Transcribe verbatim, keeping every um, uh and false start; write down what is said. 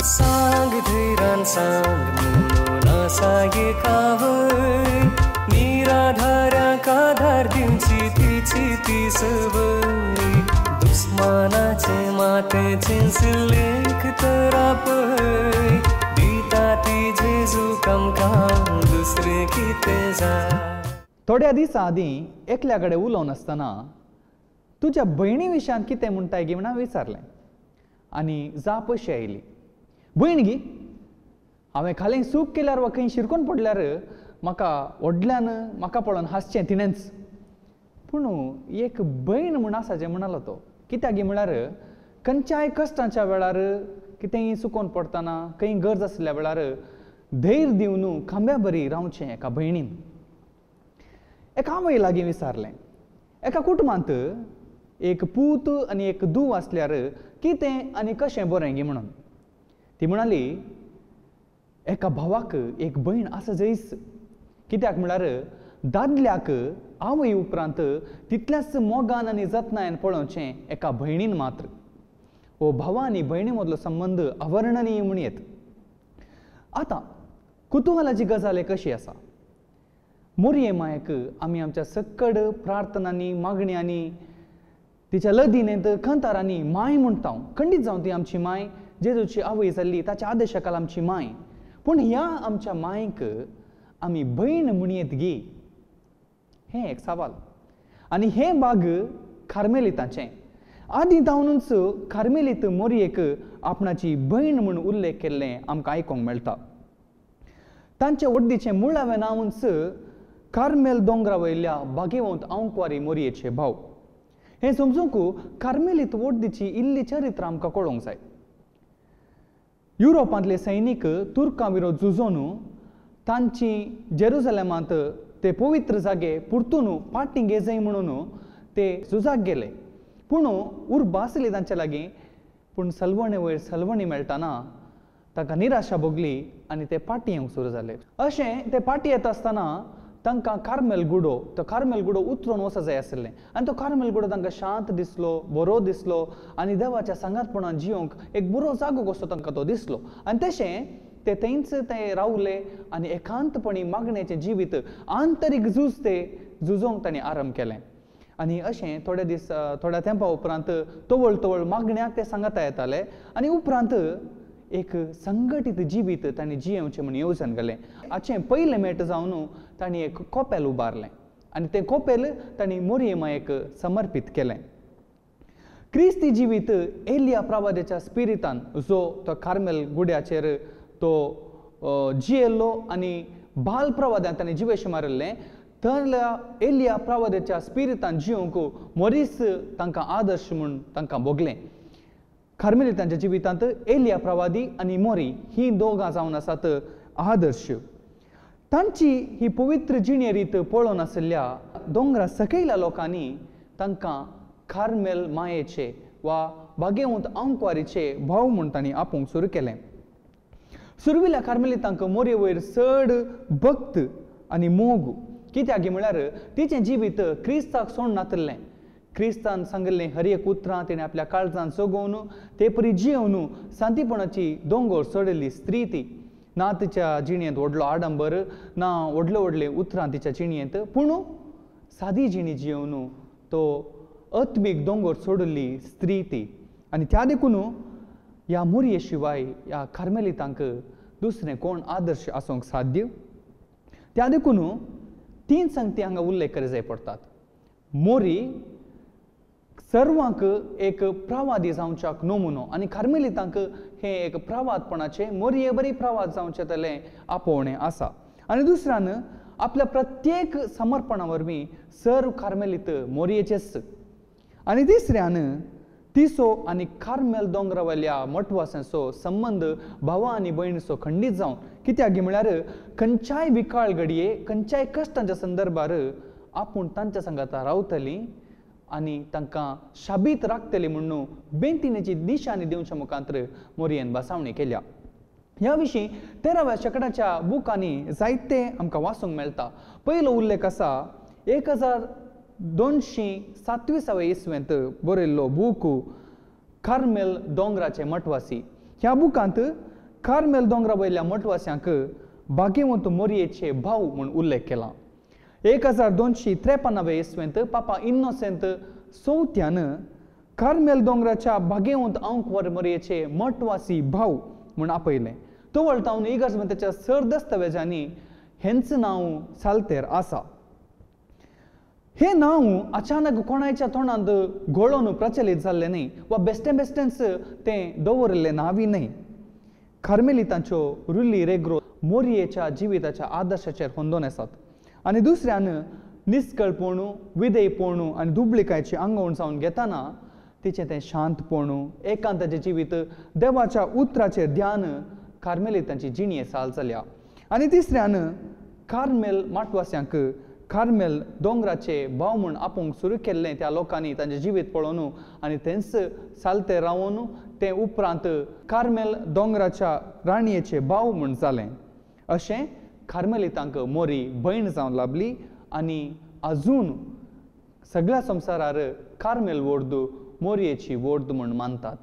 सांग धैरान सांग म्हणून आसा एकावय निराधाऱ्यांक आधार दिवची तिची ती संवय दुस्मानाचे मातें लेख तर आपय दिता ती जेजू आमकां दुसरें कितें जाय. थोड्या दिसां आदीं एकल्या कडेन उलोवन आसतना तुज्या भयणी विशयान कितें म्हणटाय गी म्हणून विचारलें आनी जाप अशी आयली, भयण गी हांवें खालें चूक केल्यार वा खंय शिरकून पडल्यार म्हाका व्हडल्यान म्हाका पळोवन हांसचें तिणेंच. पूण एक भयण म्हूण आसा जें म्हणालो तो कित्याक गी म्हळ्यार खंयच्याय कश्टांच्या वेळार कितेंय चुकोवन पडटना खंय गरज आशिल्ल्या वेळार धैर्य दिवन खांब्या बरी रावचें एका भयणीन. एका आवय लागीं विचारलें, एका कुटुंबांत एक पूत आनी एक धूव आसल्यार कितें आनी कशें बरें गी म्हणून. ती म्हणाली, एका भावाक एक भयण आसा जयस, कित्याक म्हळ्यार दादल्याक आवय उपरांत तितल्याच मोगान आनी जतनायेन पळोवचें एका भयणीन मात्र. हो भावा आनी भयणी मदलो संबंद अवर्णनीय म्हूण येत. आतां कुतुहलाची गजाल एक अशी आसा, मोरये मायक आमी आमच्या सक्कड प्रार्थनांनी मागण्यांनी तिच्या लदीनेंत खंतारांनी माय म्हणटा. खंडीत जावन ती आमची माय, जेजूची आवय जाल्ली ताच्या आदेशाकाल आमची माय. पूण ह्या आमच्या मायक आमी भयण म्हणयेत गी, हें एक सवाल. आनी हें बाग कार्मेलिताचें. आदीं जावनूच कार्मेलीत मोरयेक आपणाची भयण म्हूण उल्लेख केल्लें आमकां आयकूंक मेळटा. तांचे वड्डीचें मुळावें नांवूच कार्मेल दोंगरा वयल्या बागेवंत आंकवारी मोरयेचे भाव. हें समजूंक कार्मेलीत वड्डीची इल्ली चरित्र आमकां कळोवंक जाय. युरोपांतले सैनीक तुर्कां विरोध झुजोवन तांची जेरुजलेमांत ते पवित्र जागे परतून फाटीं घेजय म्हणून ते झुजाक गेले. पूण उर्बा आसली तांचे लागीं, पूण सलवणे वयर सलवणी मेळटना तांकां निराशा भोगली आनी ते फाटीं येवंक सुरू जाले. अशें ते फाटीं येता आसतना तांकां कार्मेल गुडो, तो कार्मेल गुडो उतरून वचूंक जाय आशिल्लें आनी तो कार्मेल गुडो तांकां शांत दिसलो, बरो दिसलो आनी देवाच्या सांगातपणान जियोंक एक बरो जागो कसो तांकां तो दिसलो. आनी तशें ते थंयच ते रावले आनी एकांतपणी मागण्याचें जिवीत आंतरीक झूज ते झुजोवंक तांणी आरंभ केलें. आनी अशें थोडे दीस थोड्या तेंपा उपरांत तवळ तवळ मागण्याक ते सांगाता येताले आनी उपरांत एक संघटीत जिवीत तांणी जियेवचें म्हूण येवजण घालें. हाचें पयलें मेट जावन तांणी एक कोपेल उबारलें आनी तें कोपेल तांणी मोरये मायेक समर्पीत केलें. क्रिस्ती जिवीत एलिया प्रवाद्याच्या स्पिरितान जो तो कार्मेल गुड्याचेर तो जियेल्लो आनी बाल प्रवाद्यान ताणें जिवेश मारिल्लें, थंयल्या एलिया प्रवाद्याच्या स्पिरितान जियोंक मोरीस तांकां आदर्श म्हूण तांकां भोगलें. कार्मेलितांच्या जिवितांत एलिया प्रवादी आनी मोरी ही दोगां जावन आसात आदर्श. तांची ही पवित्र जिणे रीत पळोवन आशिल्ल्या दोंगरा सकयल्या लोकांनी तांकां कार्मेल मायेचे वा बागेवंत आंकवारीचे भाव म्हूण तांणी आपोवंक सुरू केलें. सुरविल्या कार्मेलितांक मोरये वयर चड भक्त आनी मोग, कित्याक म्हळ्यार तिचें जिवीत क्रिस्ताक सोड नातिल्लें. क्रिस्तान सांगिल्लें हर एक उतरां तिणें आपल्या काळजान सगोवन ते परी जियोवन शांतीपणाची दोंगर चडिल्ली स्त्री ती. ना तिच्या जिणेंत व्हडलो आडंबर, ना व्हडले व्हडले उतरां तिच्या जिणेंत, पूण सादी जिणी जियोवन तो आत्मीक दोंगर सोडिल्ली स्त्री ती. आनी त्या देखून ह्या मोरये शिवाय ह्या कार्मेलितांक दुसरें कोण आदर्श आसूंक साध्य. त्या देखून तीन संगती हांगा उल्लेख करी जाय पडटात. मोरी सर्वांक एक प्रवादी जावच्याक नमुनो आनी कार्मेलितांक हें एक प्रवादपणाचें मोरये बरी प्रवाद जावचें तलें आपोवणें आसा. आनी दुसऱ्यान आपल्या प्रत्येक समर्पणा वरवीं सर्व कार्मेलीत मोरयेचेच. आनी तिसऱ्यान तिसो आनी कार्मेल दोंगरा वयल्या मठवासांचो संबंद भावा आनी भयणीचो खंडीत जावन, कित्याक म्हळ्यार खंयच्याय विकाळ घडये खंयच्याय कश्टांच्या संदर्भार आपूण तांच्या सांगाता रावतली आनी तांकां शाबीत राखतली म्हणून बेंतिनेची निशाणी दिवच्या मुखांतर मोरयेन बसावणी केल्या. ह्या विशीं तेराव्या शेंकड्याच्या बुकांनी जायते आमकां वाचूंक मेळटा. पयलो उल्लेख आसा एक हजार दोनशीं सातविसावे इसवेंत बरयल्लो बूक कार्मेल दोंगराचे मठवासी. ह्या बुकांत कार्मेल दोंगरा वयल्या मठवास्यांक भाग्यवंत मोरयेचे भाव म्हूण उल्लेख केला. एक हजार दोनशी त्रेपनावे इसवेंत पापा इनोसेंत चवथ्यान कार्मेल दोंगराच्या भाग्यवंत आंकवार मोरयेचे मठवासी भाव म्हूण आपयलें. तवळ तावन इगर्जमंताच्या सर दस्तावेजांनी हेंच नांव सालतेर आसा. हें नांव अचानक कोणायच्या तोंडांत घोळोवन प्रचलीत जाल्लें न्हय वा बेश्टें बेश्टेंच तें दवरिल्लें नांवूय न्हय. कार्मेलितांच्यो रुली रेग्रो मोरयेच्या जिविताच्या आदर्शाचेर होंदोन आसात आनी दुसऱ्यान निस्कळपण, विधेयपण आनी दुबळिकायची आंगवण जावन घेतना तिचें तें शांतपण, एकांताचें जिवीत, देवाच्या उतराचेर ध्यान कार्मेलितांची जिणये साल जाल्या. आनी तिसऱ्यान कार्मेल माटवास्यांक कार्मेल दोंगराचे भाव म्हूण आपोवंक सुरू केल्लें त्या लोकांनी तांचें जिवीत पळोवन आनी तेंच सालते रावन तें उपरांत कार्मेल दोंगराच्या राणयेचे भाव म्हूण जालें. अशें कार्मेलितांक मोरी भयण जावन लाभली आनी अजून सगळ्या संवसारार कार्मेल वोर्द मोरयेची वोर्द म्हूण मानतात.